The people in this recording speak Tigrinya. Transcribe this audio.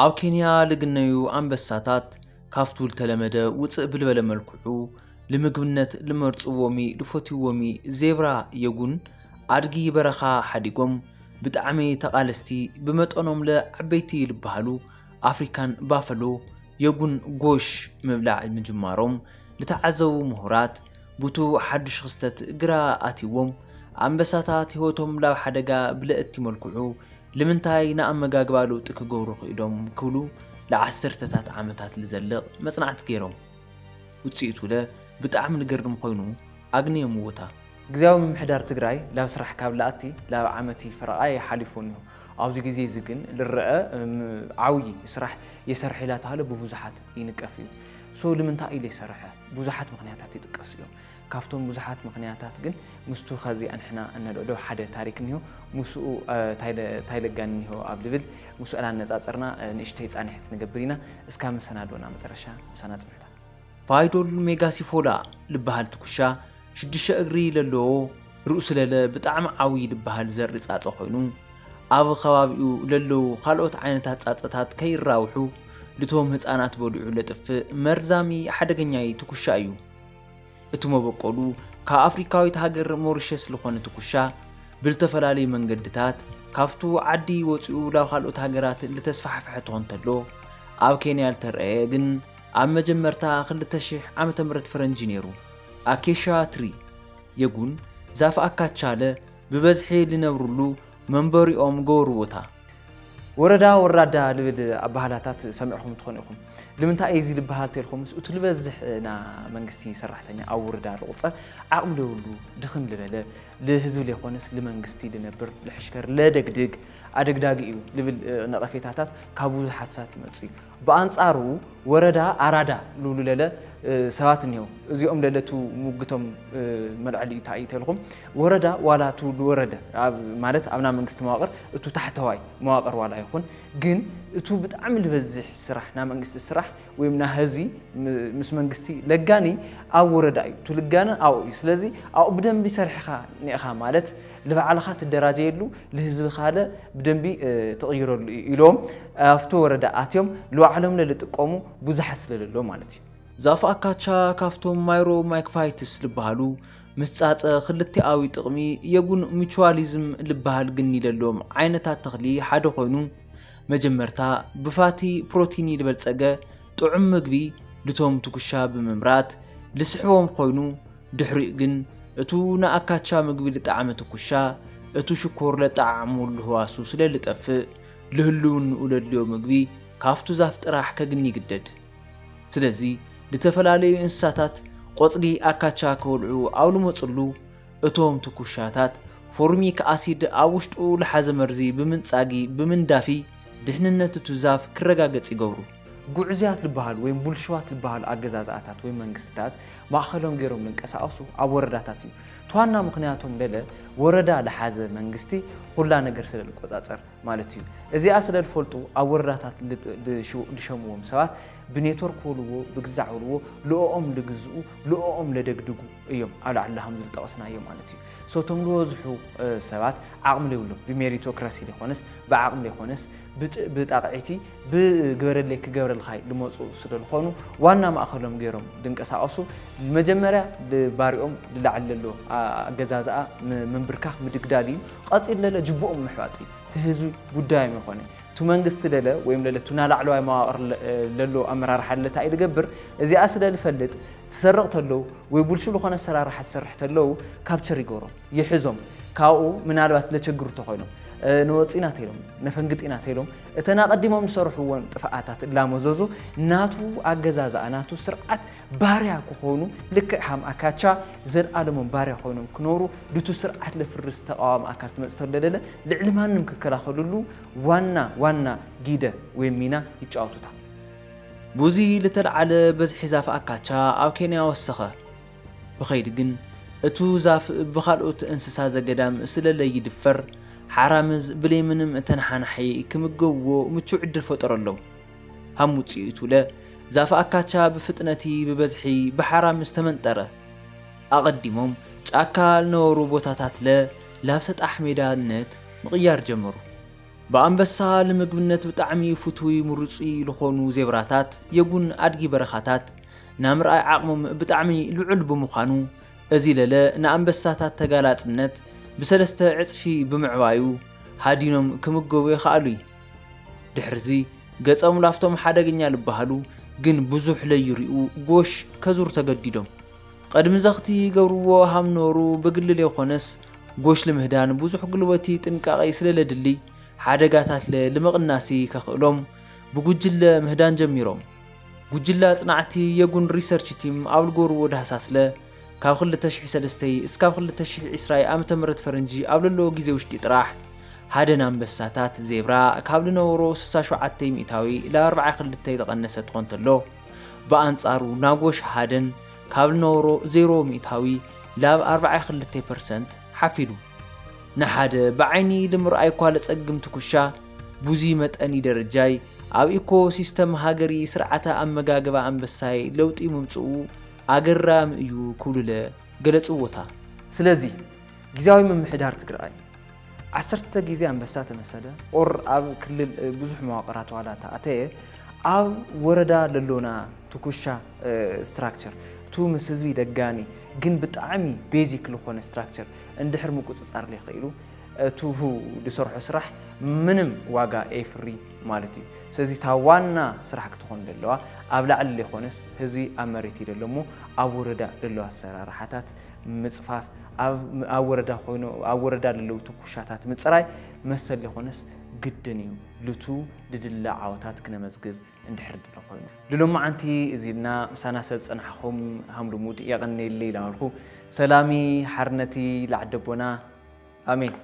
ኣብ ኬንያ ልግነዩ ኣንበሳታት ካብቱ ልተለመደ ውፅእ ብልበለ መልክዑ ልምግብነት ልመርፅዎሚ ልፈትዎሚ ዜብራ የጉን ኣድጊ በረኻ ሓዲጎም ብጣዕሚ ተቓለስቲ ብመጠኖም ለዓበይቲ ልበሃሉ ኣፍሪካን ባፈሎ የጉን ጎሽ ምብላዕ ምጅማሮም ልተዓዘቡ ምሁራት ቡቱ ሓዱሽ ክስተት ግራ ኣትዎም ኣንበሳታት ህይወቶም ላብ ሓደጋ ብለእቲ መልክዑ ልምንታይ ንኣመጋግባ ለውጢ ክገብሩ ክኢዶም ክብሉ ለዓሰርተታት ዓመታት ልዘልቕ መጽናዕቲ ገይሮም። ውጽኢቱ ለ ብጣዕሚ ልገርም ኮይኑ ኣግንዮም እውታ። ግዝያዊ ምምሕዳር ትግራይ ላብ ስራሕ ካብ ልኣቲ ላብ ዓመቲ ፈረቓ ይሓሊፉ እኒሆ። ኣብዚ ግዜ እዚ ግን ልረአ እም፣ ዓብዪ ስራሕ የሰርሕ ኢላ ተሃለ ብብዙሓት ይንቀፍ እዩ። ሶ ልምንታይ ኢለ ይሰርሐ? ብዙሓት ምኽንያታት ይጥቀሱ እዮም። ካብቶም ብዙሓት ምኽንያታት ግን ምስቱ ኸዚ ኣንሕና እነልዕሎ ሓደ ታሪክ እኒሆ ምስኡ ታይለጋን እኒሆ ኣብ ልብል ምስኡ ኣናነፃፅርና ንእሽተይ ፃንሒት ንገብር ኢና። እስካ መሰናዶና መጠረሻ ምሳና ፅንሕታ። ፋይዶል ሜጋሲፎላ ልበሃል ትኩሻ ሽዱሽተ እግሪ ለለዎ ርእሱ ለለ ብጣዕሚ ዓብዪ ልበሃል ዘርኢ ፃፀ ኮይኑ ኣብ ከባቢኡ ለለዉ ካልኦት ዓይነታት ፃፀታት ከይራብሑ ልቶም ህፃናት በሊዑ ለጥፍእ መርዛሚ ሓደገኛይ ትኩሻ እዩ። እቲ መበቆሉ ካብ ኣፍሪካዊት ሃገር ሞሪሸስ ዝኾነ ትኩሻ ብልተፈላለዩ መንገድታት ካብቱ ዓዲ ወፂኡ ላብ ካልኦት ሃገራት ልተስፋሕፈሐ ትኾን ተሎ ኣብ ኬንያ ልተረኣየ ግን ኣብ መጀመርታ ክልተ ሽሕ ዓመተ ምህረት ፈረንጂ ነይሩ። ኣኬሻ ትሪ የጉን ዛፍ ኣካቻለ ብበዝሒ ልነብርሉ መንበሪኦም ገበርዎታ። ወረዳ ወራዳ ልብል ኣባህላታት ሰሚዕኹም ትኾኑ ኢኹም። ልምንታይ እዩ እዚ ልበሃል ተልኩምስ እቱ ልበዝሕ ና መንግስቲ ሰራሕተኛ ኣብ ወረዳ ልቁፀር ዓቕሚ ለብሉ ድኽም ልበለ ልህዝቢ ለይኮነስ ልመንግስቲ ልነብር ልሕሽከር ለደግድግ ኣደግዳጊ እዩ ልብል ነቐፌታታት ካብ ብዙሓት ሰባት ይመፁ እዩ። ብኣንጻሩ ወረዳ ኣራዳ ልብሉ ለለ ሰባት እኒሆ። እዚኦም ለለቱ ሙግቶም መልዕሊ እዩ ታእዩ ተልኹም ወረዳ ዋላ ቱ ልወረደ ማለት ኣብና መንግስቲ መዋቅር እቱ ታሕተዋይ መዋቅር ዋላ ይኹን ግን እቱ ብጣዕሚ ልበዝሕ ስራሕ ና መንግስቲ ስራሕ ወይም ና ህዝቢ ምስ መንግስቲ ለጋኒ ኣብ ወረዳ እዩ። እቱ ልጋነ ኣብኡ እዩ። ስለዚ ኣብኡ ብደንቢ ሰሪሕኻ ኒእኻ ማለት ልባዕልኻ ትደራጀየሉ ልህዝብኻ ለ ብደንቢ ትቕይረሉ እዩ ኢሎም ኣብቲ ወረዳ ኣትዮም ልባዕሎም ለልጥቀሙ ብዙሓት ስለለሎ ማለት እዩ። ዛፍ ኣካቻ ካብቶም ማይሮ ማይክፋይትስ ልበሃሉ ምስ ጻጸ ክልቲኣዊ ጥቕሚ የጉን ሚቹዋሊዝም ልበሃል ግኒ ለሎም ዓይነታት ተኽሊ ሓደ ኮይኑ መጀመርታ ብፋቲ ፕሮቲን ልበልጸገ ጥዑም ምግቢ ልቶም ትኩሻ ብምምራት ልስሕቦም ኮይኑ ድሕሪኡ ግን እቱ ንኣካቻ ምግቢ ልጠዓመ ትኩሻ እቱ ሽኮር ለጠዓዕሙ ልህዋሱ ስለ ልጠፍእ ልህልውንኡ ለድልዮ ምግቢ ካብቱ ዛፍ ጥራሕ ከግኒ ይግደድ። ስለዚ ልተፈላለዩ እንስሳታት ቆጽሊ ኣካቻ ከበልዑ ኣብ ልመጽሉ እቶም ትኩሻታት ፎርሚክ ኣሲድ ኣብ ውሽጡ ልሓዘ መርዚ ብምንጻጊ ብምንዳፊ ድሕንነት እቱ ዛፍ ክረጋገጽ ይገብሩ። ጉዕዝያት ልበሃል ወይም ቡልሽዋት ልበሃል ኣገዛዝኣታት ወይም መንግስትታት ማእኸሎም ገይሮም ልንቀሳቐሱ ኣብ ወረዳታት እዩ። ተዋና ምኽንያቶም ለለ ወረዳ ልሓዘ መንግስቲ ኩላ ነገር ስለ ልቆጻጸር ማለት እዩ። እዚኣ ስለ ልፈልጡ ኣብ ወረዳታት ልሸምዎም ሰባት ብኔትወርክ ወልዎ ብግዛዕ ወልዎ ልኦኦም ልግዝኡ ልኦኦም ለደግድጉ እዮም ኣብ ላዕሊ ሃም ዝልጠቕስናዮ ማለት እዩ። ሶቶም ዝበዝሑ ሰባት ዓቕሚ ለይብሎም ብሜሪቶክራሲ ለይኮነስ ብዓቕሚ ለይኮነስ ብጣቕዒቲ ብግበረለይ ክገብረልኻይ ልመፁ ስለ ዝኾኑ ዋና ማእኸሎም ገይሮም ድንቀሳቐሱ መጀመርያ ባሪኦም ልላዕሊ ለሎ ኣገዛዝኣ ምንብርካኽ ምድግዳግ እዩ። ቀፂሉ ለለ ጅብኦም ምሕባጥ እዩ። እቲ ህዝቢ ጉዳዮም ይኾነ እቲ መንግስቲ ለለ ወይም ለለ እቲ ናላዕለዋይ መዋቕር ለሎ ኣመራርሓ ለለ እንታይ እዩ ልገብር እዚኣ ስለ ልፈልጥ ትሰርቕ ተለዉ ወይ ቡልሹ ዝኾነ ኣሰራርሓ ትሰርሕ ተለዉ ካፕቸር ይገብሮም ይሕዞም። ካብኡ ምናልባት ለቸግሩ ተኾይኖም ንወፂና ተይሎም ነፈንግጢና ተይሎም እተን ኣቐዲሞም ዝሰርሕዎን ጥፍኣታት እላመዘዙ ናቱ ኣገዛዝኣ ናቱ ስርዓት ባርያ ክኾኑ ልክዕ ሃም ኣካቻ ዘልኣለሞም ባርያ ኮይኖም ክኖሩ ድቱ ስርዓት ለፍርስ ተቃዋሚ ኣካል ትመፅእ ተሎ ለለ ልዕሊ ማንም ክከላኸልሉ ዋና ዋና ጊደ ወይ ሚና ይጫወቱታ። ቡዚ ልተልዓለ በዝሒ ዛፍ ኣካቻ ኣብ ኬንያ ወሰኸ። ብኸይዲ ግን እቱ ዛፍ ብኻልኦት እንስሳ ዘገዳም ስለ ለይድፈር ሓራምዝ ብለይ ምንም ተነሓናሒ ክምገብዎ ምቹ ዕድል ፈጠረሎም። ሃም ውፅኢቱ ለ ዛፍ ኣካቻ ብፍጥነቲ ብበዝሒ ብሓራምዝ ተመንጠረ። ኣቐዲሞም ጫካ ልነበሩ ቦታታት ለ ላብ ሰጣሕ ሜዳነት ምቕያር ጀመሩ። ብኣንበሳ ንምግብነት ብጣዕሚ ፍቱይ ምሩጹይ ዝኾኑ ዜብራታት፣ የጉን ኣድጊ በረኻታት፣ ናምርኣይ ዓቕሞም ብጣዕሚ ልዑል ብምዃኑ፣ እዚ ለለ ንኣንበሳታት ተጋላጽነት ብሰለስተ ዕጽፊ ብምዕባዩ፣ ሃዲኖም ክምገቡ የኽኣሉ እዩ። ድሕርዚ፣ ገጾም ላፍቶም ሓደገኛ ልበሃሉ፣ ግን ብዙሕ ለይሪኡ ጎሽ ከዙር ተገዲዶም። ቐድሚ ዘኽቲ ይገብርዎ ሃምኖሩ ብግልል የኾነስ፣ ጎሽ ልምህዳን ብዙሕ ጉልበቲ ጥንቃቐ ስለለድሊ፣ ሓደጋታትለ ልምቕናሲ ከኽእሎም ብጉጅለ ምህዳን ጀሚሮም። ጉጅለ ኣጽናዕቲ የጉን ሪሰርች ቲም ኣብ ልጎርዎ ዳህሳስለ፣ ካብ ክልተ ሽሕ ሰለስተይ እስካብ ክልተ ሽሕ ዕስራይ ዓመተ ምህረት ፈረንጂ ኣብ ለለዎ ግዜ ውሽጢ ጥራሕ፣ ሃደን ኣንበሳታት ዜብራ ካብ ልነበሮ ስሳ ሸውዓተ ሚእታዊ ላብ ኣርባዓ ክልተ ዝቐነሰ ትኾን ተሎ፣ ብኣንጻሩ ናጎሽ ሃደን ካብ ልነበሮ ዜሮ ሚእታዊ ላብ ኣርባዓ ክልተ ፐርሰንት ሓፊዱ። ንሓደ ብዓይኒ ልምርኣይ እኳ ለጸግም ትኩሻ፣ ቡዚ መጠኒ ደረጃይ ኣብ ኢኮ ሲስተም ሃገሪ ስርዓተ ኣመጋግባ ኣንበሳይ ለውጢ ምምጽኡ ኣገራሚ እዩ ክብሉለ ገለጽዎታ። ስለዚ ግዝያዊ ምምሕዳር ትግራይ ዓሰርተ ግዜ ኣንበሳ ተመሰለ ኦር ኣብ ክልል ብዙሕ መዋቕራት ዋላ ተኣተየ ኣብ ወረዳ ለሎና ትኩሻ ስትራክቸር እቱ ምስ ህዝቢ ደጋኒ ግን ብጣዕሚ ቤዚክ ዝኾነ ስትራክቸር እንድሕር ምቁፅፃር ለይኽኢሉ እቱ ዝሰርሖ ስራሕ ምንም ዋጋ ኤፍሪ ማለት እዩ። ስለዚ እታ ዋና ስራሕ ክትኾን ዘለዋ ኣብ ላዕሊ ዘይኮነስ ህዝቢ ኣብ መሬት እዩ ዘሎ እሞ ኣብ ወረዳ ዘለዋ ኣሰራርሓታት ምፅፋፍ ኣብ ወረዳ ኮይኑ ኣብ ወረዳ ለለዉ ትኩሻታት ምፅራይ መሰል ዘይኮነስ ግድን እዩ። ልቱ ልድለ ዓወታት ክነመዝግብ እንድሕር ድለ ኮይኑ ልሎማዓንቲ እዚልና ምሳና ሰብ ፀናሕኹም ሃምልሙድ የቐነየለይ ኢላበልኩ ሰላሚ ሓርነቲ ላዕደቦና ኣሜን።